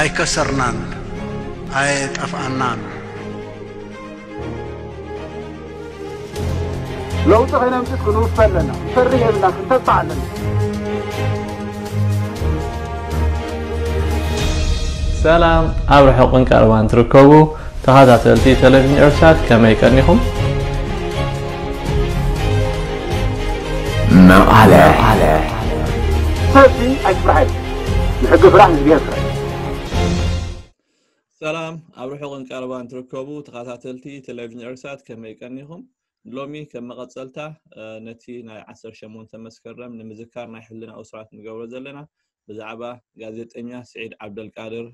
ኣይከሰርናን፣ ኣየጠፍኣናን። ለውጢ ከይነምፅእ ክንውፈ ኣለና። ክንፈርህ የብልና፣ ክንተባዕ ኣለና። ሰላም ኣብ ርሑቕን ቀረባን ትርከቡ ተኸታተልቲ ቴሌቪዥን ኤርሳት፣ ከመይ ቀኒኹም? መቐለ ሰልፊ ኣይትፍራሕ፣ ንሕጊ ፍራሕ፣ ንእግዚኣብሔር ፍራሕ። ሰላም ኣብ ርሑቕን ቀረባን ትርከቡ ተኸታተልቲ ቴሌቪዥን ኤርሳት፣ ከመይ ቀኒኹም? ሎሚ ከም መቐጸልታ ነቲ ናይ ዓሰርተ ሸሞንተ መስከረም ንምዝካር ናይ ሕልና እሱራት ንገብሮ ዘለና ብዛዕባ ጋዜጠኛ ስዒድ ዓብደልቃድር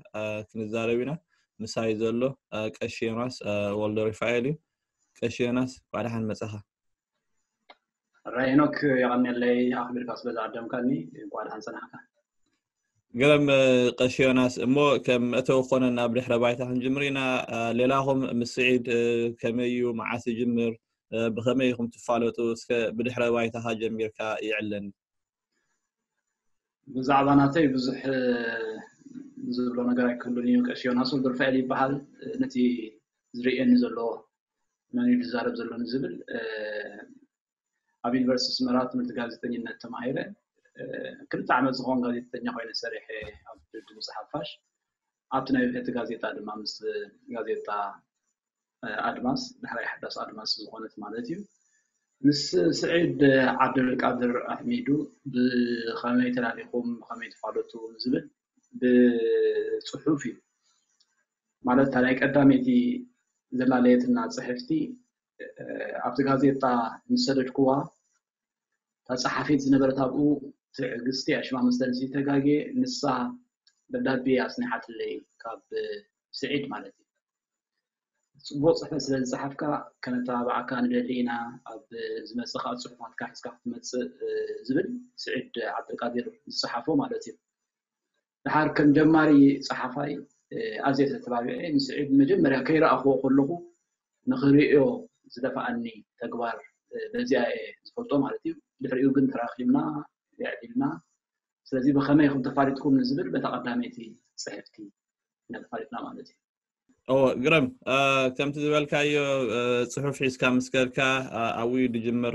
ክንዛረብ ኢና። ምሳይ ዘሎ ቀሺ ዮናስ ወልደሩፋኤል እዩ። ቀሺ ዮናስ እንኳዕ ደሓን መጻኻ። ራይ ሄኖክ የቐንየለይ ኣኽቢርካ ስለ ዝዓደምካኒ። እንኳዕ ደሓን ጸናሕካ። ግርም ቀሺ ዮናስ፣ እሞ ከም መእተዊ ክኾነና ኣብ ድሕረ ባይታ ክንጅምር ኢና። ሌላኹም ምስ ስዒድ ከመይ እዩ፣ መዓስ ይጅምር፣ ብኸመይ ኢኹም ትፋለጡ? እስከ ብድሕረ ባይታኻ ጀሚርካ ይዕለኒ። ብዛዕባ ናተይ ብዙሕ ዝብሎ ነገር ኣይክህሉን እዩ። ቀሺ ዮናስ ወልደሩፋኤል ይበሃል። ነቲ ዝርእየኒ ዘሎ መን እዩ ዝዛረብ ዘሎ ንዝብል ኣብ ዩኒቨርሲቲ ኣስመራ ትምህርቲ ጋዜጠኝነት ተማሂረ። ክልተ ዓመት ዝኸውን ጋዜጠኛ ኮይነ ሰሪሐ ኣብ ድምፂ ሓፋሽ። ኣብቲ ናይ ብሕቲ ጋዜጣ ድማ ምስ ጋዜጣ ኣድማስ፣ ዳሕራይ ሓዳስ ኣድማስ ዝኾነት ማለት እዩ፣ ምስ ስዒድ ዓብደልቃድር ኣሕሚዱ ብኸመይ ተላሊኹም ብኸመይ ትፋለጡ ዝብል ብፅሑፍ እዩ። ማለት እታ ናይ ቀዳመይቲ ዘላለየትና ፅሕፍቲ ኣብቲ ጋዜጣ ምስ ሰደድክዋ እታ ጸሓፊት ዝነበረት ኣብኡ ትዕግስቲ እያ ሽማ መሰለኒ ተጋግየ፣ ንሳ ደብዳቤ ኣጽኒሓትለይ ካብ ስዒድ ማለት እዩ። ጽቡቕ ጽሕፈት ስለ ዝጸሓፍካ ከነተባብዓካ ንደሊ ኢና፣ ኣብ ዝመጽእ ከኣ ጽሑፋትካ ሒዝካ ክትመጽእ ዝብል ስዒድ ዓብደልቃዲር ዝጸሓፎ ማለት እዩ። ደሓር ከም ጀማሪ ጸሓፋይ ኣዝየ ተተባቢዐ። ንስዒድ መጀመርያ ከይረኣኽዎ ከለኹ ንኽርእዮ ዝደፍኣኒ ተግባር በዚኣ እየ ዝፈልጦ ማለት እዩ። ድሕሪኡ ግን ተራኺብና የዕሊልና። ስለዚ ብኸመይ ኢኹም ተፋሊጥኩም ንዝብል በታ ቀዳመይቲ ጽሕፍቲ ኢና ተፋሊጥና ማለት እዩ። እዎ ግርም፣ ከምቲ ዝበልካዮ ጽሑፍ ሒዝካ ምስ ከድካ ኣብኡ እዩ ዝጅምር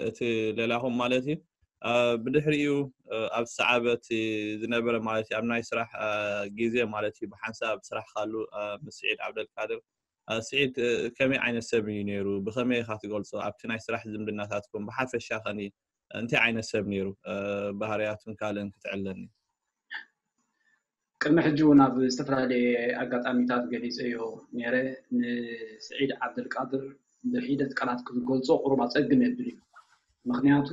እቲ ሌላኹም ማለት እዩ። ብድሕሪኡ ኣብ ሰዓበት ዝነበረ ማለት እዩ ኣብ ናይ ስራሕ ግዜ ማለት እዩ ብሓንሳብ ስራሕ ካሉ ምስ ስዒድ ዓብደልቃድር። ስዒድ ከመይ ዓይነት ሰብ እዩ ነይሩ? ብኸመይ ኢኻ ትገልጾ? ኣብቲ ናይ ስራሕ ዝምድናታትኩም ብሓፈሻ ኸኒ እንታይ ዓይነት ሰብ ነይሩ? ባህርያቱን ካልእን ክትዕለኒ። ቅድሚ ሕጂ እውን ኣብ ዝተፈላለየ ኣጋጣሚታት ገሊፀዮ ነይረ። ንስዒድ ዓብደልቃድር ብሒደት ቃላት ክትገልፆ ቁሩብ ኣፀግም የብል እዩ። ምክንያቱ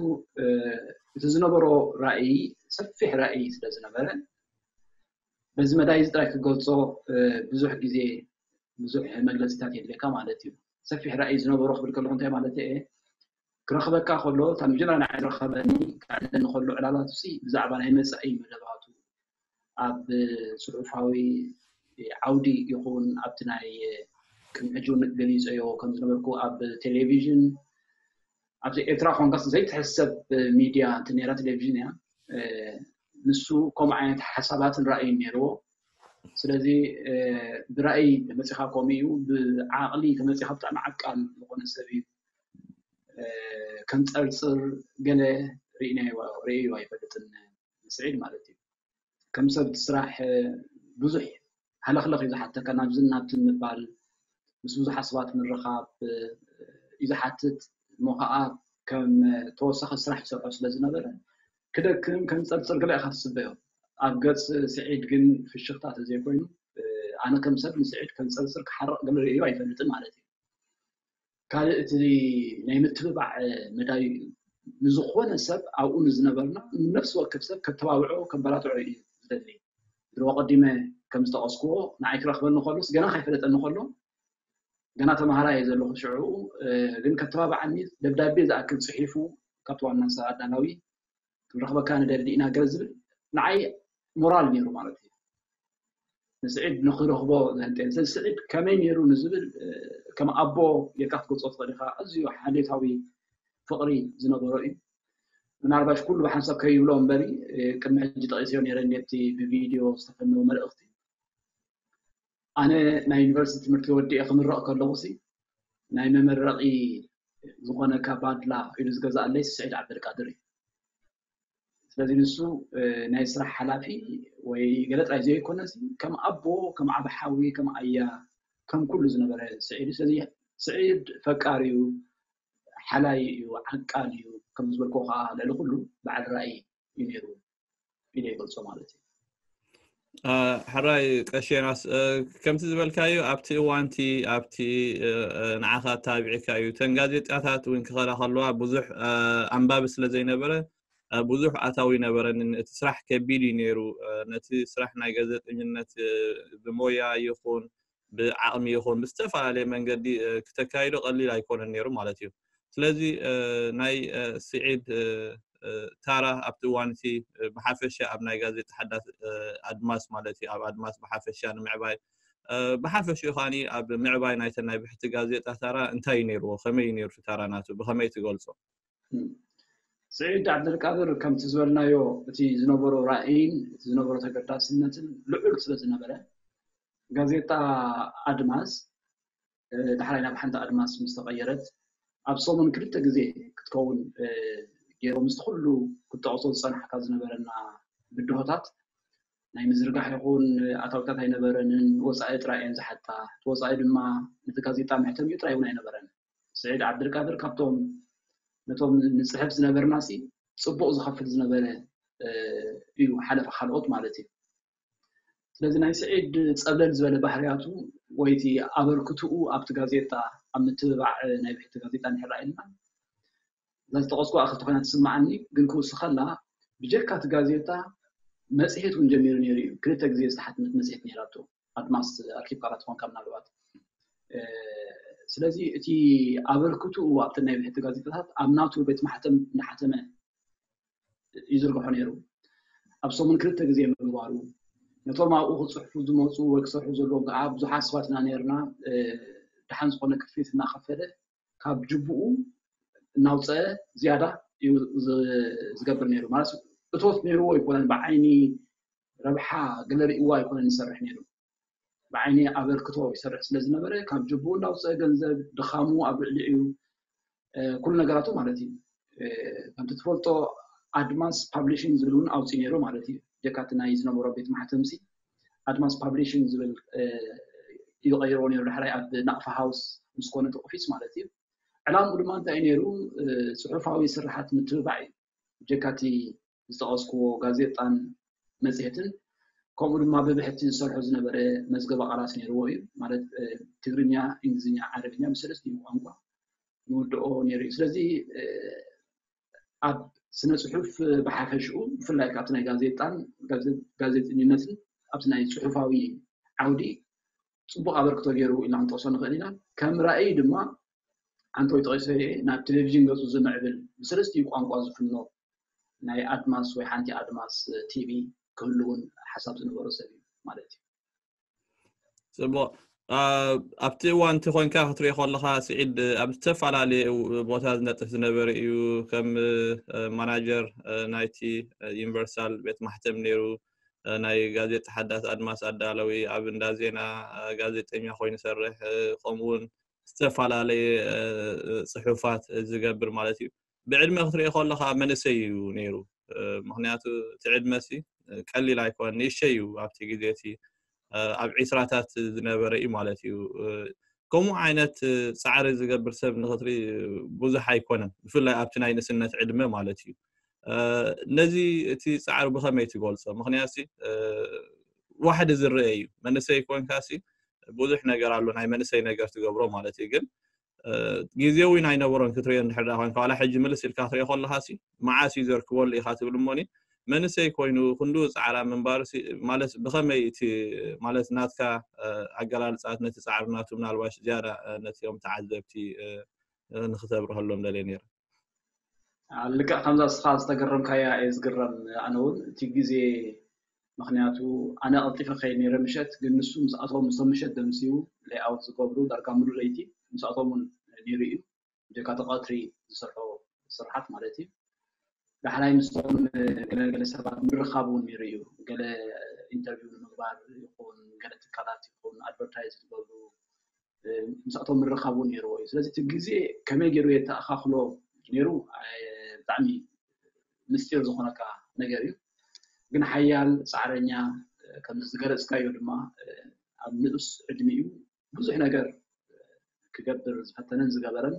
እቲ ዝነበሮ ራእይ ሰፊሕ ራእይ ስለ ዝነበረ በዚ መዳይ እዚ ጥራይ ክገልፆ ብዙሕ ግዜ ብዙሕ መግለፂታት የድልየካ ማለት እዩ። ሰፊሕ ራእይ ዝነበሮ ክብል ከለኩ እንታይ ማለት እየ? ክረኽበካ ከሎ እታ መጀመርያ ንዓይ ዝረኸበኒ ክዕለኒ ከሎ ዕላላቱ ሲ ብዛዕባ ናይ መፃኢ መደባቱ ኣብ ፅሑፋዊ ዓውዲ ይኹን ኣብቲ ናይ ቅድሚ ሕጂ እውን ገሊፀዮ ከም ዝነበርኩ ኣብ ቴሌቪዥን ኣብዚ ኤርትራ ኮንካስ ዘይትሕሰብ ሚድያ እንተ ነይራ ቴሌቪዥን እያ። ንሱ ከምኡ ዓይነት ሓሳባትን ራእይን ነይርዎ። ስለዚ ብራእይ ተመፂኻ ከምኡ እዩ፣ ብዓቕሊ ተመፂኻ ብጣዕሚ ዓቃል ዝኾነ ሰብ እዩ። ከንፀርፅር ገለ ርእይናዮ ርእዩ ኣይፈልጥን ስዒድ ማለት እዩ። ከም ሰብ እቲ ስራሕ ብዙሕ ሃለኽለኽ እዩ ዝሓተካ፣ ናብዝን ናብትን ምባል፣ ምስ ብዙሓት ሰባት ምርኻብ እዩ ዝሓትት። እሞ ከዓ ከም ተወሳኺ ስራሕ ይሰርሖ ስለ ዝነበረ ክደክም ከንፀርፅር ገለ ኢኻ ትፅበዮ። ኣብ ገፅ ስዒድ ግን ፍሽኽታ ተዘይኮይኑ ኣነ ከም ሰብ ንስዒድ ከንፀርፅር ክሓርቕ ገለ ርእዩ ኣይፈልጥን ማለት እዩ። ካልእ እቲ ናይ ምትብባዕ መዳይ እዩ። ንዝኾነ ሰብ ኣብኡ ንዝነበርና ነፍሲ ወከፍ ሰብ ከተባብዖ ከበራትዖ እዩ ዝደሊ። ድሮ ቀዲመ ከም ዝጠቐስክዎ ንዓይ ክረኽበኒ ከሎስ ገና ከይፈለጠኒ ከሎ ገና ተምሃራይ እየ ዘለኹ ሽዑ ግን ከተባብዓኒ ደብዳቤ ዝኣክል ፅሒፉ ካብቲ ዋና ኣዳላዊ ክንረኽበካ ንደሊ ኢና ገለ ዝብል ንዓይ ሞራል ነይሩ ማለት እዩ። ንስዒድ ንክረኽቦ ዘህንጠየ። ስለዚ ስዒድ ከመይ ነይሩ ንዝብል ከም ኣቦ ጌርካ ክትገልፆ ትኽእል ኢኻ። ኣዝዩ ሓልዮታዊ ፍቕሪ ዝነበሮ እዩ። ምናልባሽ ኩሉ ብሓንሳብ ከይብሎ እምበሪ ቅድሚ ሕጂ ጠቒሰዮ ነይረ ነቲ ብቪድዮ ዝተፈነወ መልእኽቲ ኣነ ናይ ዩኒቨርሲቲ ትምህርቲ ወዲኤ ክምረቕ ከለኹ ሲ ናይ መመረቒ ዝኾነካ ባድላ ኢሉ ዝገዛእለይ ስዒድ ዓብደልቃድር እዩ። ስለዚ ንሱ ናይ ስራሕ ሓላፊ ወይ ገለ ጥራይ ዘይኮነስ ከም ኣቦ፣ ከም ዓቢ ሓዊ፣ ከም ኣያ፣ ከም ኩሉ ዝነበረ ስዒድ እዩ። ስለዚ ስዒድ ፈቃር እዩ፣ ሓላይ እዩ፣ ዓቃል እዩ፣ ከም ዝበልኮ ከዓ ልዕሊ ኩሉ በዓል ራእይ እዩ ነይሩ ኢለ ይገልጾ ማለት እዩ። ሕራይ ቀሽ ዮናስ፣ ከምቲ ዝበልካዩ ኣብቲ እዋንቲ ኣብቲ ንዓኻ ኣተባቢዕካዩ እተን ጋዜጣታት እውን ክኸዳ ከለዋ ብዙሕ ኣንባቢ ስለ ዘይነበረ ብዙሕ ኣታዊ ይነበረንን እቲ ስራሕ ከቢድ እዩ ነይሩ። ነቲ ስራሕ ናይ ጋዜጠኝነት ብሞያ ይኹን ብዓቕሚ ይኹን ብዝተፈላለየ መንገዲ ክተካይዶ ቀሊል ኣይኮነን ነይሩ ማለት እዩ። ስለዚ ናይ ስዒድ ታራ ኣብቲ እዋን እቲ ብሓፈሻ ኣብ ናይ ጋዜጣ ሓዳስ ኣድማስ ማለት እዩ ኣብ ኣድማስ ብሓፈሻ ንምዕባይ ብሓፈሽኡ ከዓኒ ኣብ ምዕባይ ናይተን ናይ ብሕቲ ጋዜጣ ታራ እንታይ እዩ ነይርዎ? ከመይ እዩ ነይሩ ታራ ናቱ? ብኸመይ ትገልጾ? ስዒድ ዓብደልቃድር ከምቲ ዝበልናዮ እቲ ዝነበሮ ራእይን እቲ ዝነበሮ ተገዳስነትን ልዑል ስለ ዝነበረ ጋዜጣ ኣድማስ ዳሕራይ ናብ ሓንቲ ኣድማስ ምስ ተቐየረት ኣብ ሰሙን ክልተ ግዜ ክትከውን ገይሮም ምስቲ ኩሉ ክትጠቕሶ ዝፀናሕካ ዝነበረና ብድሆታት ናይ ምዝርጋሕ ይኹን ኣታዊታት ኣይነበረንን፣ ወፃኢ ጥራይ እየን ዝሓታ። እቲ ወፃኢ ድማ ነቲ ጋዜጣ መሕተሚኡ ጥራይ እውን ኣይነበረን። ስዒድ ዓብደልቃድር ካብቶም ነቶም ንፅሕፍ ዝነበርና ሲ ፅቡቕ ዝኸፍል ዝነበረ እዩ ሓለፈ ካልኦት ማለት እዩ። ስለዚ ናይ ስዒድ ፀብለል ዝበለ ባህርያቱ ወይ እቲ ኣበርክትኡ ኣብቲ ጋዜጣ ኣብ ምትብባዕ ናይ ብሕቲ ጋዜጣ እንድሕር ኢልና እዛ ዝጠቐስኩ ክልተ ኮይና ትስምዓኒ፣ ግን ክውስኸላ ብጀካ እቲ ጋዜጣ መፅሄት እውን ጀሚሩ ነይሩ እዩ። ክልተ ግዜ ዝተሓትመት መፅሄት ነይራቶ ኣድማስ ኣርኪብ ካላ ትኾንካ ምናልባት። ስለዚ እቲ ኣበርክትኡ ኣብቲ ናይ ብሕቲ ጋዜጣታት ኣብ ናቱ ቤት ማሕተም እናሓተመ ይዝርግሖ ነይሩ። ኣብ ሰሙን ክልተ ግዜ ምግባሩ ነቶም ኣብኡ ክፅሕፉ ዝመፁ ወይ ክሰርሑ ዘለዎም ከዓ ብዙሓት ሰባት ኢና ነርና። ደሓን ዝኾነ ክፍሊት እናኸፈለ ካብ ጅቡኡ እናውፀአ ዝያዳ እዩ ዝገብር ነይሩ። ማለት እቶት ነይርዎ ኣይኮነን፣ ብዓይኒ ረብሓ ገለ ርእይዎ ኣይኮነን ዝሰርሕ ነይሩ። ብዓይኒ ኣበርክቶ ይሰርሕ ስለ ዝነበረ ካብ ጅቡኡ እናውፀአ ገንዘብ ድኻሙ ኣብ ልዕሊኡ እዩ ኩሉ ነገራቱ ማለት እዩ። ከምቲ ትፈልጦ ኣድማስ ፓብሊሽንግ ዝብል እውን ኣውፂኡ ነይሩ ማለት እዩ። ጀካቲ ናይ ዝነበሮ ቤት ማሕተምሲ ኣድማስ ፓብሊሽንግ ዝብል እዩ ቀይርዎ ነይሩ። ዳሕራይ ኣብ ናቕፋ ሃውስ ምስ ኮነ እቲ ኦፊስ ማለት እዩ። ዕላምኡ ድማ እንታይ እዩ ነይሩ? ፅሑፋዊ ስርሓት ምትብባዕ እዩ። ጀካቲ ዝጠቐስክዎ ጋዜጣን መፅሄትን ከምኡ ድማ ብብሕቲ ዝሰርሖ ዝነበረ መዝገበ ቃላት ነይርዎ እዩ። ማለት ትግርኛ፣ እንግሊዝኛ፣ ዓረብኛ ብሰለስቲኡ ቋንቋ ይውድኦ ነይሩ እዩ። ስለዚ ኣብ ስነ ፅሑፍ ብሓፈሽኡ ብፍላይ ካብቲ ናይ ጋዜጣን ጋዜጠኝነትን ኣብቲ ናይ ፅሑፋዊ ዓውዲ ፅቡቕ ኣበርክቶ ገይሩ ኢልና ክንጠቕሶ ንኽእል ኢና። ከም ራእይ ድማ ኣንተ ወይ ጠቒሶ ናብ ቴሌቪዥን ገፁ ዝምዕብል ብሰለስቲኡ ቋንቋ ዝፍኖ ናይ ኣድማስ ወይ ሓንቲ ኣድማስ ቲቪ ክህሉ እውን ሓሳብ ዝነበሮ ሰብ እዩ ማለት እዩ። ፅቡቕ። ኣብቲ እዋን እቲ ኮንካ ክትሪኦ ከለካ ስዒድ ኣብ ዝተፈላለዩ ቦታ ዝነጥፍ ዝነበረ እዩ። ከም ማናጀር ናይቲ ዩኒቨርሳል ቤት ማሕተም ነይሩ። ናይ ጋዜጣ ሓዳስ ኣድማስ ኣዳለዊ፣ ኣብ እንዳ ዜና ጋዜጠኛ ኮይኑ ይሰርሕ፣ ከምኡውን ዝተፈላለየ ፅሑፋት ዝገብር ማለት እዩ። ብዕድመ ክትሪኦ ከለካ መንእሰይ እዩ ነይሩ። ምክንያቱ እቲ ዕድመ ሲ ቀሊል ኣይኮን፣ ንእሸይ እዩ ኣብቲ ግዜ እቲ ኣብ ዒስራታት ዝነበረ እዩ ማለት እዩ። ከምኡ ዓይነት ፃዕሪ ዝገብር ሰብ ንክትርኢ ብዙሕ ኣይኮነን፣ ብፍላይ ኣብቲ ናይ ንእስነት ዕድመ ማለት እዩ። ነዚ እቲ ፃዕሪ ብከመይ ትገልፆ? ምክንያቱ ዋሕዲ ዝረአ እዩ። መንእሰይ ኮንካ ሲ ብዙሕ ነገር ኣሎ ናይ መንእሰይ ነገር ትገብሮ ማለት እዩ። ግን ግዜ እውን ኣይነበሮን ክትሪኦ እንድሕር ዳ ኮንካ፣ ዋላ ሕጂ ምልስ ኢልካ ክትሪኦ ከለካ ሲ መዓስ እዩ ዘርክበሉ ኢካ ትብል እሞኒ መንእሰይ ኮይኑ ክንዱ ፃዕራ ምንባር ማለት ብከመይ እቲ ማለት ናትካ ኣገላልፃት ነቲ ፃዕሪ ናቱ ምናልባሽ ዝያዳ ነቲኦም ተዓዘብቲ ንክተብርሀሎም ደልየ ነይረ። ልክዕ ከምዛ እስኻ ዝተገረምካያ እየ ዝግረም ኣነ እውን እቲ ግዜ። ምክንያቱ ኣነ ቀልጢፈ ከይድ ነይረ ምሸት፣ ግን ንሱ ምስኣቶም ምስቶም ምሸት ደምስዩ ሌይኣውት ዝገብሩ ዳርጋ ሙሉ ለይቲ ምስኣቶም እውን ነይሩ እዩ። ጀካ እቲ ቀትሪ ዝሰርሖ ስርሓት ማለት እዩ። ዳሕራይ ምስቶም ገለገለ ሰባት ምርኻብ እውን ነይሩ እዩ። ገለ ኢንተርቪው ባር ይኹን ገለ ትካላት ይኹን ኣድቨርታይዝ ዝገብሩ ምስኣቶም ምርኻቡ ነይርዎ እዩ። ስለዚ እቲ ግዜ ከመይ ገይሩ የተኣኻኽሎ ነይሩ ብጣዕሚ ምስጢር ዝኾነካ ነገር እዩ። ግን ሓያል ፃዕረኛ፣ ከም ዝገለፅካዮ ድማ ኣብ ንኡስ ዕድሚኡ ብዙሕ ነገር ክገብር ዝፈተነን ዝገበረን፣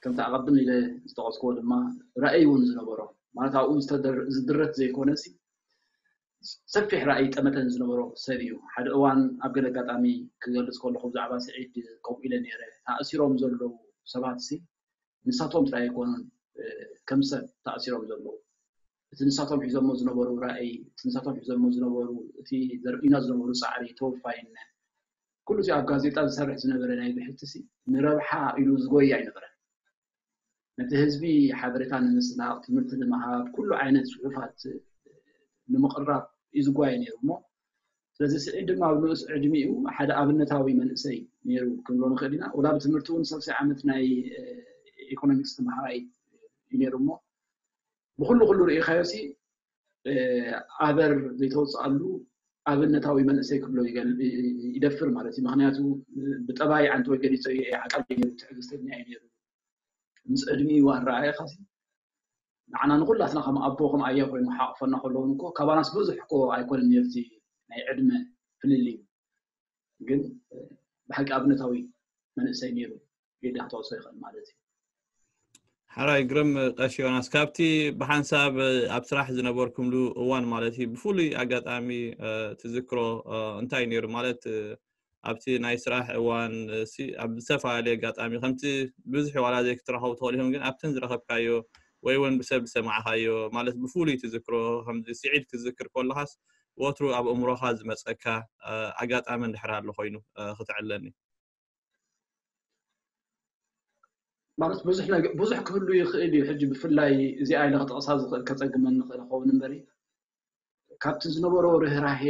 ከምቲ ኣቐድም ኢለ ዝጠቐስክዎ ድማ ራእይ እውን ዝነበሮ፣ ማለት ኣብኡ ዝድረት ዘይኮነ ሲ ሰፊሕ ራእይ ጠመተን ዝነበሮ ሰብ እዩ። ሓደ እዋን ኣብ ገለ ኣጋጣሚ ክገልፅ ከለኹ ብዛዕባ ስዒድ ከምኡ ኢለ ነይረ። ተኣሲሮም ዘለዉ ሰባት ሲ ንሳቶም ጥራይ ኣይኮኑን ከም ሰብ ተኣሲሮም ዘለዉ። እቲ ንሳቶም ሒዞሞ ዝነበሩ ራእይ፣ እቲ ንሳቶም ሒዞሞ ዝነበሩ፣ እቲ ዘርእዩና ዝነበሩ ፃዕሪ፣ ተወፋይነት፣ ኩሉ እቲ ኣብ ጋዜጣ ዝሰርሕ ዝነበረ ናይ ብሕቲ ሲ ንረብሓ ኢሉ ዝጎይ ኣይነበረን። ነቲ ህዝቢ ሓበሬታ ንምስላቕ፣ ትምህርቲ ንምሃብ፣ ኩሉ ዓይነት ፅሑፋት ንምቕራብ እዩ ዝጓየ ነይሩ። እሞ ስለዚ ስዒድ ድማ ኣብ ንኡስ ዕድሚኡ ሓደ ኣብነታዊ መንእሰይ ነይሩ ክንብሎ ንኽእል ኢና። ወላ ብትምህርቲ እውን ሳልሳይ ዓመት ናይ ኢኮኖሚክስ ተምሃራይ እዩ ነይሩ። እሞ ብኩሉ ኩሉ ርኢኻዮ ሲ ኣበር ዘይተወፅኣሉ ኣብነታዊ መንእሰይ ክብሎ ይደፍር ማለት እዩ። ምክንያቱ ብጠባይ ዓንተወይ ገሊፀ እየ፣ ዓቃል ነይሩ፣ ትዕግስተኛ እዩ ነይሩ። ምስ ዕድሚኡ ኣረኣእኻ ሲ ንዓና ንኩላትና ከም ኣቦ ከም ኣያ ኮይኑ ሓቕፈና ከለውን እኮ ካባናስ ብዙሕ እኮ ኣይኮነን ነርዚ ናይ ዕድመ ፍልልዩ፣ ግን ብሓቂ ኣብነታዊ መንእሰይ ነይሩ ኢልካ ክትወስዶ ይኽእል ማለት እዩ። ሓራይ ግርም ቀሺ ዮናስ፣ ካብቲ ብሓንሳብ ኣብ ስራሕ ዝነበርኩምሉ እዋን ማለት እዩ ብፍሉይ ኣጋጣሚ ትዝክሮ እንታይ ነይሩ ማለት ኣብቲ ናይ ስራሕ እዋን ኣብ ዝተፈላለየ ኣጋጣሚ ከምቲ ብዙሕ ዋላ ዘይክትራኸቡ ትኽእሉ ኢኹም፣ ግን ኣብተን ዝረኸብካዮ ወይ እውን ብሰብ ዝሰማዕካዮ ማለት ብፍሉይ ትዝክሮ ከምዚ ስዒድ ክትዝክር ከለኻስ ወትሩ ኣብ እምሮኻ ዝመፀካ ኣጋጣሚ እንድሕር ኣሎ ኮይኑ ክትዕለኒ? ማለት ብዙሕ ክህሉ ይኽእል እዩ። ሕጂ ብፍላይ እዚኣ ኢለ ክጠቕሳ ዝኽእል ከፀግመኒ ይኽእል ይኸውን እምበሪ ካብቲ ዝነበሮ ርህራሄ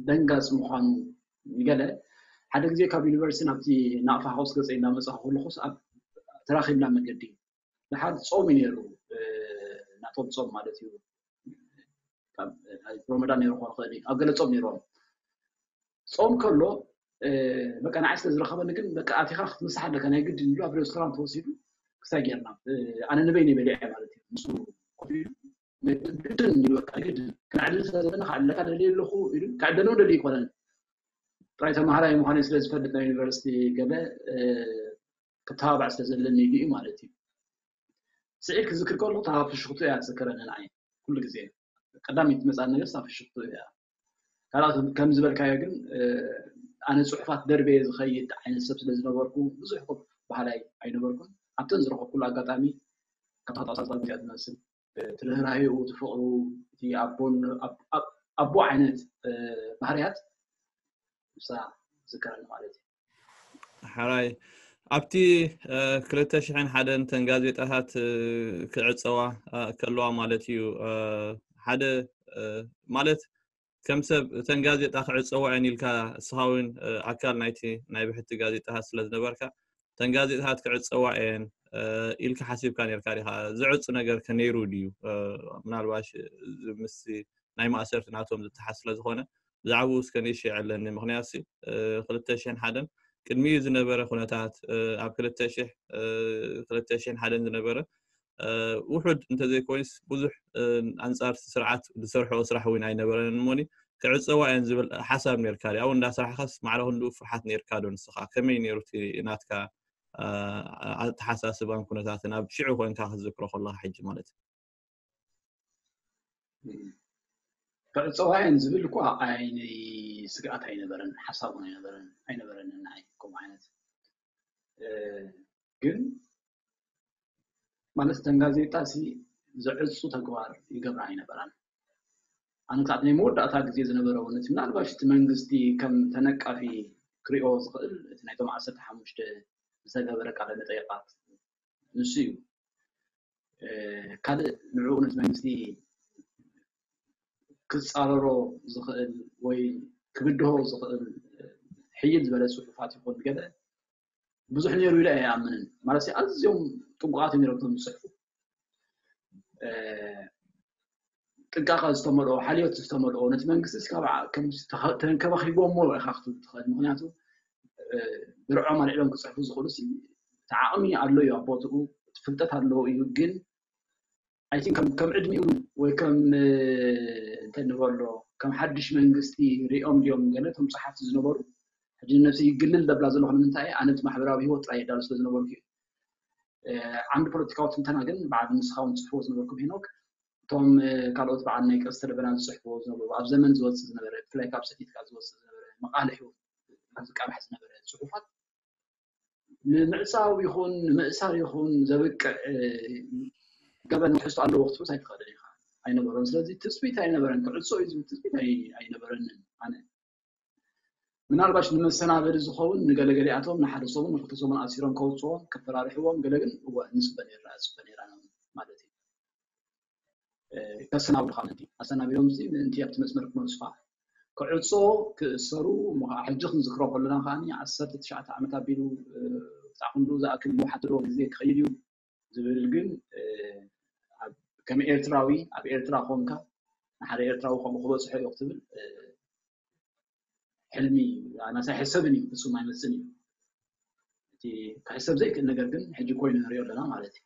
ደንጋፅ ምዃኑ ገለ ሓደ ግዜ ካብ ዩኒቨርሲቲ ናብቲ ናቕፋ ሃውስ ገፀ እናመፃኹ ከለኹስ ኣብ ተራኺብና መገዲ ድሓር ፆም እዩ ነይሩ። ናቶም ፆም ማለት እዩ ሮመዳን ነይሩ ክኾን ይኽእል እዩ። ኣብ ገለ ፆም ነይሮም ፆም ከሎ በቃ ንዓይ ስለ ዝረኸበኒ ግን በቃ ኣቲኻ ክትምሳሕ ኣለካ ናይ ግድን ኢሉ ኣብ ሬስቶራንት ተወሲዱ ክሳይ ጌርና ኣነ ንበይነይ በሊዐ ማለት እዩ። ንሱ ኮፍ ኢሉ ግድን ኢሉ በቃ ግድን ክነዕልል ስለ ዘለና ክዓልለካ ደልየ ኣለኹ ኢሉ ከዕደሎ ደልዩ ኣይኮነን። ጥራይ ተምሃራይ ምዃነይ ስለ ዝፈልጥ ናይ ዩኒቨርሲቲ ገለ ክተባባዕ ስለ ዘለኒ ኢሉ እዩ ማለት እዩ። ስዒድ ክዝክር ከሎ እታ ፍሽኽቱ እያ ትዝክረኒ ንዓይ ኩሉ ግዜ ቀዳመይቲ ትመፅኣኒ ነገር እታ ፍሽኽቱ እያ። ካልኣት ከም ዝበልካዮ ግን ኣነ ፅሑፋት ደርበየ ዝኸይድ ዓይነት ሰብ ስለ ዝነበርኩ ብዙሕ በሃላይ ኣይነበርኩን። ኣብተን ዝረኸብኩሉ ኣጋጣሚ ካብ ተኸታተልቲ እያ ትመስል እቲ ርህራሄኡ፣ እቲ ፍቕሩ፣ እቲ ኣቦን ኣቦ ዓይነት ባህርያት ንሳ ዝዝከረኒ ማለት እዩ። ሓራይ ኣብቲ ክልተ ሽሕን ሓደን ተን ጋዜጣታት ክዕፀዋ ከለዋ ማለት እዩ ሓደ ማለት ከም ሰብ እተን ጋዜጣ ክዕፀዋ እየን ኢልካ እስኻ እውን ኣካል ናይቲ ናይ ብሕቲ ጋዜጣታት ስለ ዝነበርካ እተን ጋዜጣታት ክዕፀዋ እየን ኢልካ ሓሲብካ ነርካ ዲኻ? ዝዕፁ ነገር ከ ነይሩ ድዩ? ምናልባሽ ምስ ናይ ማእሰርቲ ናቶም ዝተሓዝ ስለ ዝኾነ ብዛዕባኡ እስከ ንእሽተይ የዕለኒ። ምኽንያቱ ክልተ ሽሕን ሓደን ቅድሚኡ ዝነበረ ኩነታት ኣብ ክልተ ሽሕን ሓደን ዝነበረ ውሑድ እንተዘይኮይኑስ ብዙሕ ኣንፃር ስርዓት ዝሰርሖ ስራሕ እውን ኣይነበረን እሞኒ ክዕፀዋ እየን ዝብል ሓሳብ ነርካ ድዩ? ኣብኡ እንዳሰራሕካስ ማዕረ ክንድኡ ፍርሓት ነርካ ዶ ንስኻ? ከመይ ነይሩ እቲ ናትካ ኣተሓሳስባን ኩነታትን ኣብ ሽዑ ኮንካ ክትዝክሮ ከለኻ ሕጂ ማለት እዩ? ክዕፀዋ እየን ዝብል እኳ ኣይነይ ስግኣት ኣይነበረን፣ ሓሳብ እውን ኣይነበረን ኣይነበረን ንዓይ ከምኡ ዓይነት ግን ማለት እተን ጋዜጣ ሲ ዘዕፁ ተግባር ይገብራ ኣይነበራን። ኣነ ክሳዕ ናይ መወዳእታ ግዜ ዝነበረ እውን እቲ ምናልባሽ እቲ መንግስቲ ከም ተነቃፊ ክሪኦ ዝኽእል እቲ ናይቶም ዓሰርተ ሓሙሽተ ዝተገበረ ቃለ መጠይቃት ንሱ እዩ። ካልእ ንዕኡ ነቲ መንግስቲ ክፃረሮ ዝኽእል ወይ ክብድሆ ዝኽእል ሕይል ዝበለ ፅሑፋት ይኹን ገለ ብዙሕ ነይሩ ኢለ ኣይኣምንን። ማለት ኣዝዮም ጥንቁቓት እዮም ነይሮም እቶም ዝፅሕፉ። ጥንቃቐ ዝተመልኦ፣ ሓልዮት ዝተመልኦ፣ ነቲ መንግስቲ እስካብ ዓ-፣ ከም ዝተኸ-፣ ተንከባኺቦሞ ኢኻ ክትብል ትኽእል። ምኽንያቱ፣ እ፣ ብርዖም ኣልዒሎም ክጽሕፉ ዝኽእሉ ሲ፣ እቲ ዓቕሚ ኣሎ እዩ ኣብ ቦትኡ፣ እቲ ፍልጠት ኣለዎ እዩ። ግን፣ I think ከም፣ ከም ዕድሚኡ ወይ ከም፣ እ፣ እንታይ ንበሎ፣ ከም ሓድሽ መንግስቲ ሪኦም ድዮም ገለ እቶም ጸሓፍቲ ዝነበሩ? ሕጂ ነብሲ ይግልል ደብላ ዘለኹ ንምንታይ? ኣነ እቲ ማሕበራዊ ህይወት ጥራይ የዳሉ ስለ ዝነበርኩ እዩ። እ፣ ዓምዲ ፖለቲካዊ ትንተና ግን በዓል ንስኻ እውን ትጽሕፍዎ ዝነበርኩም ሄኖክ፣ እቶም፣ እ፣ ካልኦት በዓል ናይ ቀስተ ደበና ዝጽሕፍዎ ዝነበሩ፣ ኣብ ዘመን ዝወጽእ ዝነበረ፣ ብፍላይ ካብ ሰቲትካ ዝወጽእ ዝነበረ፣ መቓልሕ እውን ዝቃልሕ ዝነበረ ጽሑፋት ንምዕጻው ይኹን ንምእሳር ይኹን ዘብቅዕ፣ እ፣ ገበን ትሕዝቶ ኣለዎ ክትብልስ ኣይትኽእልን ኢኻ። ኣይነበሮን። ስለዚ ትጽቢት ኣይነበረን። ክዕጾ እዩ ዝብል ትጽቢት ኣይ-፣ ኣይነበረንን ኣነ። ምናልባሽ ንመሰናበዲ ዝኸውን ንገለገሊኣቶም ንሓደ ሰሙን ንክልተ ሰሙን ኣሲሮም ከውፅዎም ከፈራርሕዎም ገለ ግን እወ ንፅበ ነይርና፣ እፅበ ነይራ ማለት እዩ። እ፣ ከሰናብዱ ከዓ ምእንቲ ኣሰናቢዶም እዚ ምእንቲ ኣብቲ መስመር ክመልሱኻ ክዕፆ ክእሰሩ እሞ ከዓ ሕጂ ክንዝክሮ ከለና ከዓ ዓሰርተ ትሽዓተ ዓመት ኣቢሉ፣ እ፣ ክሳዕ ክንዱ ዝኣክል መውሓቲ ዘለዎ ግዜ ክኸይድ እዩ ዝብል ግን፣ እ፣ ኣብ፣ ከም ኤርትራዊ ኣብ ኤርትራ ኮንካ ንሓደ ኤርትራዊ ከምኡ ክበፅሖ እዩ ክትብል፣ እ፣ ሕልሚ ኣናሳ ኣይሕሰብን እዩ፣ ፍጹም ኣይመጽን እዩ። እቲ ክሕሰብ ዘይክእል ነገር ግን ሕጂ ኮይኑ ንሪኦ ኣለና ማለት እዩ።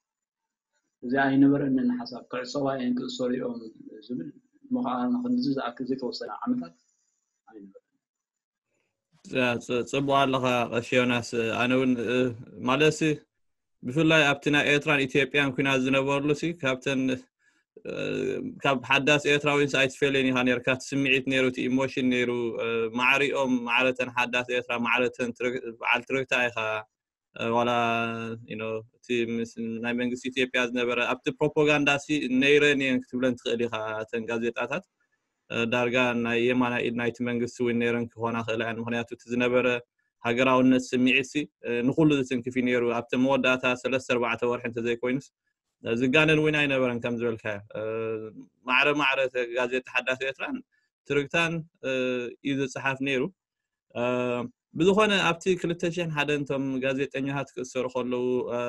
እዚ ኣይነበረንን ሓሳብ ክዕጸዋ እየን ክእሰሩ እዮም ዝብል እሞ ከዓ ንክንድዚ ዝኣክል ዘይተወሰነ ዓመታት ኣይነበረን። ያ፣ ጽ-፣ ጽቡቕ ኣለኻ ቀሺ ዮናስ። ኣነ እውን፣ እ፣ ማለትሲ ብፍላይ ኣብቲ ናይ ኤርትራን ኢትዮጵያን ኲናት ዝነበርሉ ሲ ካብተን፣ እ፣ ካብ ሓዳስ ኤርትራውያን ሲ ኣይትፈልየን ኢኻ ነርካ። እቲ ስምዒት ነይሩ፣ እቲ ኢሞሽን ነይሩ፣ እ፣ ማዕሪኦም ማዕረተን ሓዳስ ኤርትራ ማዕረተን ትርግ-፣ በዓል ትርግታ ኢኻ። እ፣ ዋላ፣ you know፣ እቲ ምስ ናይ መንግስቲ ኢትዮጵያ ዝነበረ ኣብቲ ፕሮፓጋንዳ ሲ ነይረን እየን ክትብለን ትኽእል ኢኻ። እተን ጋዜጣታት፣ እ፣ ዳርጋ ናይ የማናይ ኢድ ናይቲ መንግስቲ እውን ነይረን ክኾና ክእላ እየን። ምኽንያቱ እቲ ዝነበረ ሃገራውነት ስምዒት ሲ፣ እ፣ ንኹሉ ዝትንክፍ እዩ ነይሩ። ኣብቲ መወዳእታ ሰለስተ ኣርባዕተ ወርሒ እንተዘይኮይኑስ፣ እ፣ ዝጋነን እውን ኣይነበረን ከም ዝበልካዮ። እ፣ ማዕረ ማዕረ ተ-፣ ጋዜጣ ሓዳስ ኤርትራን ትርግታን፣ እ፣ እዩ ዝጸሓፍ ነይሩ። እ፣ ብዝኾነ ኣብቲ ክልተ ሽሕን ሓደን እቶም ጋዜጠኛታት ክእሰሩ ከለዉ፣ እ፣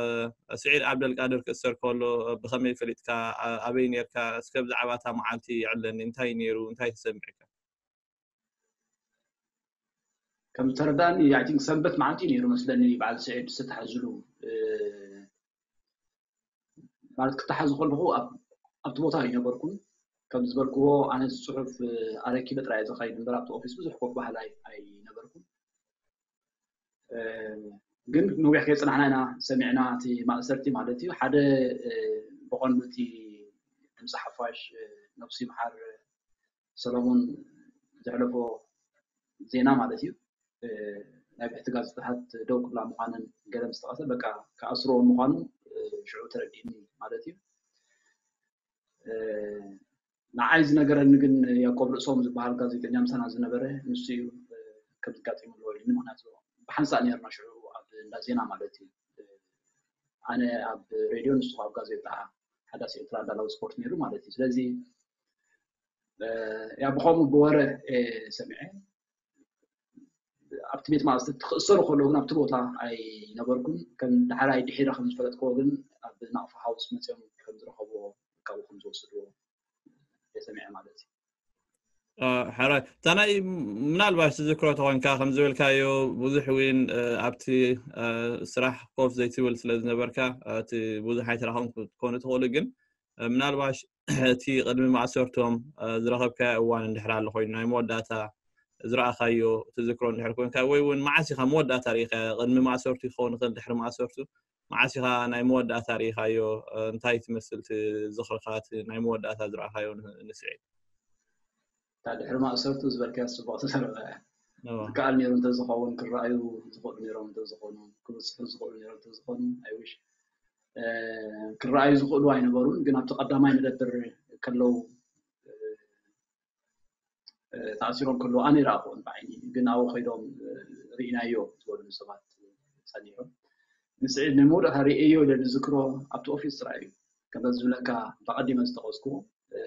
ስዒድ ዓብደልቃድር ክእሰር ከሎ፣ እ፣ ብኸመይ ፈሊጥካ? ኣ-፣ ኣበይ ነርካ? እስከ ብዛዕባ እታ መዓልቲ የዕለኒ። እንታይ ነይሩ? እንታይ ተሰሚዕካ? ከም ዝተረዳእኒ፣ I think ሰንበት መዓልቲ ነይሩ መስለኒ በዓል ስዒድ ዝተታሕዝሉ፣ እ፣ ማለት ክተሓዝ ከለኹ ኣብ-፣ ኣብቲ ቦታ ኣይነበርኩን። ከም ዝበልክዎ ኣነ ጽሑፍ፣ እ፣ ኣረኪበ ጥራይ እየ ዝኸይድ እምበር ኣብቲ ኦፊስ ብዙሕ ኮፍ በሃሊ ኣይ-፣ ኣይነበርኩን። እ፣ ግን ነዊሕ ከይጸናሕና ኢና ሰሚዕና እቲ ማእሰርቲ ማለት እዩ። ሓደ፣ እ፣ ብቐንዱ እቲ ድምፂ ሓፋሽ፣ እ፣ ነብሱ ይምሓር ሰሎሞን ዘሕለፎ ዜና ማለት እዩ። እ፣ ናይ ብሕቲ ጋዜጣታት ደው ክብላ ምዃነን ገለ ምስ ጠቐሰ፣ በቃ ክኣስርዎ ምዃኑ፣ እ፣ ሽዑ ተረዲእኒ ማለት እዩ። እ፣ ንዓይ ዝነገረኒ ግን ያዕቆብ ርእሶም ዝበሃል ጋዜጠኛ ምሳና ዝነበረ ንሱ እዩ፣ እ፣ ከምዚ ጋጢሙ ኣለዎ ኢሉኒ። ምኽንያቱ ብሓንሳእ ነርና ሽዑ ኣብ እንዳ ዜና ማለት እዩ። እ፣ ኣነ ኣብ ሬድዮ ንሱ ኣብ ጋዜጣ ሓዳስ ኤርትራ ኣዳላዊ ስፖርት ነይሩ ማለት እዩ። ስለዚ፣ እ፣ ያ ብኸምኡ ብወረ፣ እ፣ ሰሚዐ። ኣብቲ ቤት ማእሰርቲ ክእሰሩ ከለዉ ግን ኣብቲ ቦታ ኣይነበርኩን። ከም ዳሕራይ ድሒረ ከም ዝፈለጥክዎ ግን ኣብ ናቕፋ ሃውስ መፅዮም ከም ዝረኸብዎ፣ ካብኡ ከም ዝወሰድዎ እየ ሰሚዐ ማለት እዩ። እ፣ ሕራይ። እታ ናይ ምናልባሽ ትዝክሮ ተኾንካ፣ ከም ዝበልካዮ ብዙሕ እውን፣ እ፣ ኣብቲ፣ እ፣ ስራሕ ኮፍ ዘይትብል ስለ ዝነበርካ፣ እ፣ እቲ ብዙሕ ኣይተራኸብኩም ክትኮኑ ትኽእሉ፣ ግን፣ እ፣ ምናልባሽ እቲ ቅድሚ ማእሰርቶም፣ እ፣ ዝረኸብካዮ እዋን እንድሕር ኣሎ ኮይኑ፣ ናይ መወዳእታ ዝረኣኻዮ ትዝክሮ እንድሕር ኮንካ፣ ወይ እውን መዓስ ኢኻ መወዳእታ ርኢኻዮ? ቅድሚ ማእሰርቱ ክኸውን ይኽእል፣ ድሕሪ ማእሰርቱ፣ መዓስ ኢኻ ናይ መወዳእታ ርኢኻዮ? እ፣ እንታይ ትመስል እቲ ዝኽርኻ፣ እቲ ናይ መወዳእታ ዝረኣኻዮ ን-፣ ንስዒድ? እታ ድሕሪ ማእሰርቱ ዝበልካያ ጽቡቕ ተዘረባ እያ። እዎ። ዝከኣል ነይሩ እንተዝኸውን፣ ክረኣዩ ዝኽእሉ ነይሮም እንተዝኾኑ፣ ክብጽሑ ዝኽእሉ ነይሮም እንተዝኾኑ፣ I wish፣ እ፣ ክረኣዩ ዝኽእሉ ኣይነበሩን፣ ግን ኣብቲ ቀዳማይ መደብር ከለዉ፣ እ፣ እ፣ ተኣሲሮም ከለዉ ኣነ ይረኣኽዎም ብዓይኒ፣ ግን ኣብኡ ከይዶም፣ እ፣ ርኢናዮ ዝበሉኒ ሰባት ጸኒሖም። ንስዒድ ናይ መወዳእታ ርእየዮ ኢለ ዝዝክሮ ኣብቲ ኦፊስ ጥራይ እዩ። ከምዚ ዝብለካ ብቐዲመ ዝጠቐስኩዎ፣ እ፣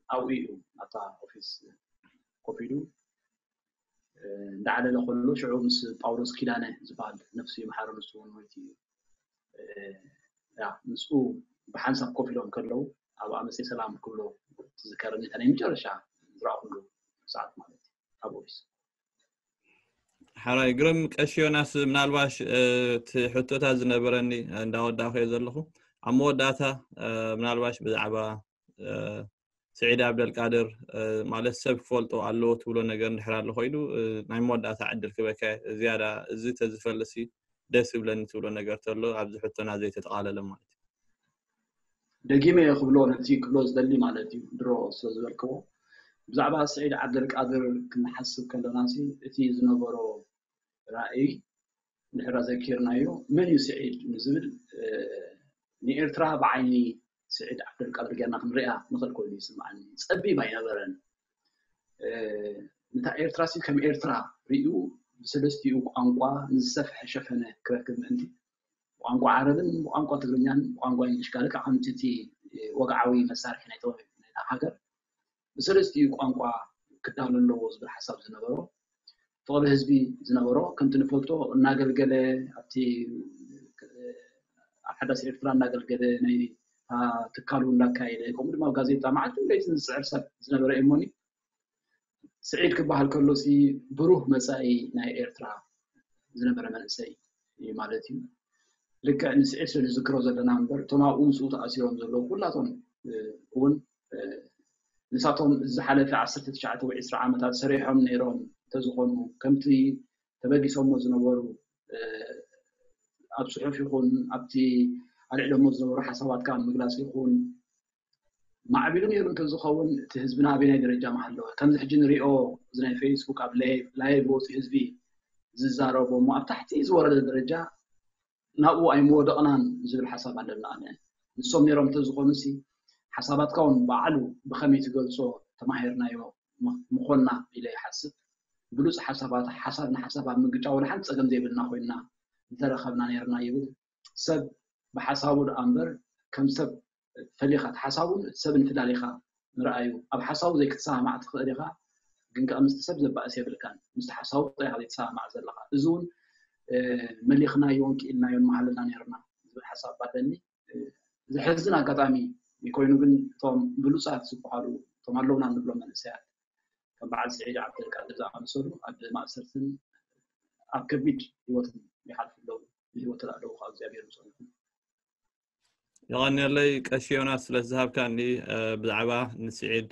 ኣብኡ እዩ፣ ኣብታ ኦፊስ ኮፍ ኢሉ፣ እ፣ እንዳዓለለ ከሎ ሽዑ ምስ ጳውሎስ ኪዳነ ዝበሃል ነፍሱ ይምሓሮ ንሱ እውን ሞይቱ እዩ። እ፣ ያ፣ ምስኡ ብሓንሳብ ኮፍ ኢሎም ከለዉ ኣብ ኣመሰይ ሰላም ክብሎ ትዝከረኒ፣ እታ ናይ መጨረሻ ዝረኣኹሉ ሰዓት ማለት እዩ ኣብ ኦፊስ። ሓራይ ግርም ቀሺ ዮናስ፣ ምናልባሽ እቲ ሕቶታት ዝነበረኒ እንዳወዳእኹ እየ ዘለኹ። ኣብ መወዳእታ ምናልባሽ ብዛዕባ ስዒድ ኣብደልቃድር ማለት ሰብ ክፈልጦ ኣለዎ ትብሎ ነገር እንድሕር ኣሎ ኮይኑ ናይ መወዳእታ ዕድል ክበካ ዝያዳ እዚ ተዝፈልሲ ደስ ይብለኒ ትብሎ ነገር ተሎ ኣብዚ ሕቶና ዘይተጠቓለለ ማለት እዩ። ደጊመ እየ ክብሎ ነቲ ክብሎ ዝደሊ ማለት እዩ ድሮ ስለ ዝበልክዎ ብዛዕባ ስዒድ ዓብደልቃድር ክንሓስብ ከለና ሲ እቲ ዝነበሮ ራእይ እንድሕር ኣዘኪርናዮ መን እዩ ስዒድ ንዝብል ንኤርትራ ብዓይኒ ስዒድ ዓብደልቃድር ጌርና ክንሪኣ ንኽእል ኮይኑ ይስምዓኒ። ጸቢብ ኣይነበረን። ነታ ኤርትራ ሲ ከም ኤርትራ ርእዩ ብሰለስቲኡ ቋንቋ ንዝሰፍሐ ሸፈነ ክረክብ ምእንቲ ብቋንቋ ዓረብን ብቋንቋ ትግርኛን ብቋንቋ እንግሊሽ ጋር ከዓ ከምቲ እቲ ወግዓዊ መሳርሒ ናይ ሃገር ብሰለስቲኡ ቋንቋ ክዳሎ ኣለዎ ዝብል ሓሳብ ዝነበሮ ፍቕሪ ህዝቢ ዝነበሮ ከምቲ ንፈልጦ እናገልገለ ኣብቲ ኣብ ሓዳስ ኤርትራ እናገልገለ ናይ ትካሉ እናካየደ ከምኡ ድማ ኣብ ጋዜጣ መዓልትን ለይትን ዝፅዕር ሰብ ዝነበረ እሞኒ ስዒድ ክበሃል ከሎ ሲ ብሩህ መፃኢ ናይ ኤርትራ ዝነበረ መንእሰይ እዩ ማለት እዩ። ልክዕ ንስዒድ ስለ ንዝክሮ ዘለና እምበር እቶም ኣብኡ ምስኡ ተኣሲሮም ዘለዉ ኩላቶም እውን ንሳቶም ዝሓለፈ ዓሰርተ ትሽዓተ ወይ ዕስራ ዓመታት ሰሪሖም ነይሮም እንተዝኾኑ ከምቲ ተበጊሶሞ ዝነበሩ ኣብ ፅሑፍ ይኹን ኣብቲ ኣልዕሎሞ ዝነበሩ ሓሳባት ካብ ምግላፅ ይኹን ማዕቢሉ ነይሩ እንተዝኸውን እቲ ህዝብና ኣበናይ ደረጃ ምሃለወ። ከምዚ ሕጂ ንሪኦ እዚ ናይ ፌስቡክ ኣብ ላይቭ ወፂኡ ህዝቢ ዝዛረቦ እሞ ኣብ ታሕቲ ዝወረደ ደረጃ ናብኡ ኣይምወደቕናን ዝብል ሓሳብ ኣለና። ኣነ ንሶም ነይሮም እንተዝኾኑ ሲ ሓሳባትካ እውን ባዕሉ ብኸመይ ትገልጾ ተማሂርናዮ ምኾንና ኢለ ይሓስብ። ብሉፅ ሓሳባት ሓሳብ ንሓሳብ ኣብ ምግጫ ወላ ሓንቲ ፀገም ዘይብልና ኮይንና ምተረኸብና ነይርና ይብል። ሰብ ብሓሳቡ ደኣ እምበር ከም ሰብ ፈሊኻ እቲ ሓሳቡን እቲ ሰብን ፍላሊኻ ምርኣዩ ኣብ ሓሳቡ ዘይክትሰማማዕ ትኽእል ኢኻ ግን ከዓ ምስቲ ሰብ ዘባእስ የብልካን ምስቲ ሓሳቡ ጥራይ ኢኻ ዘይትሰማማዕ ዘለኻ እዚ እውን መሊኽናዮን ክኢልናዮን መሃለና ነይርና ዝብል ሓሳብ ኣለኒ ዘሕዝን ኣጋጣሚ ኮይኑ ግን እቶም ብሉፃት ዝበሃሉ እቶም ኣለውና እንብሎም መንእሰያት ከም በዓል ስዒድ ዓብደልቃድር ዝኣመሰሉ ኣብ ማእሰርትን ኣብ ከቢድ ህይወትን ይሓልፉ ኣለዉ ብህይወት ኣለዉ ካብ እግዚኣብሔር ምሰሉኩም የቐንየለይ ቀሺ ዮናስ ስለ ዝሃብካኒ ብዛዕባ ንስዒድ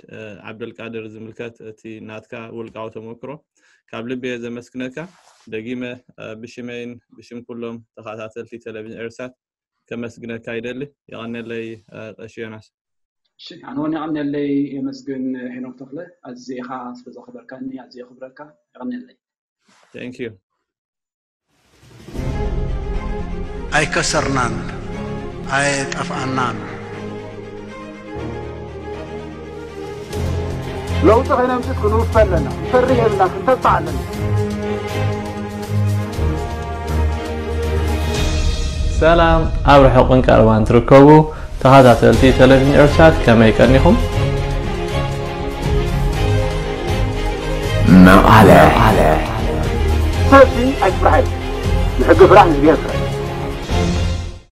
ዓብደልቃድር ዝምልከት እቲ ናትካ ውልቃዊ ተመክሮ ካብ ልቢ እየ ዘመስግነካ ደጊመ ብሽመይን ብሽም ኩሎም ተኸታተልቲ ቴሌቪዥን ኤርሳት ከመስግነካ ይደሊ የቐንየለይ ቀሺ ዮናስ እሺ ኣነ እውን የቐንየለይ የመስግን ሄኖክ ተኽለ ኣዝኻ ስለ ዘኽበርካኒ ኣዝየ ክብረካ የቐንየለይ Thank you ኣይከሰርናን ኣየጠፍኣናን ለውጢ ከይነምፅእ ክንውፈ ኣለና። ክንፈርህ የብልና። ክንተስፋ ኣለና። ሰላም ኣብ ርሑቕን ቀረባን ትርከቡ ተኸታተልቲ ቴሌቪዥን ኤርሳት ከመይ ቀኒኹም? መቐለ ሰብሲ ኣይትፍራሕ። ንሕጊ ፍራሕ ንእግዚኣብሔር ፍራሕ።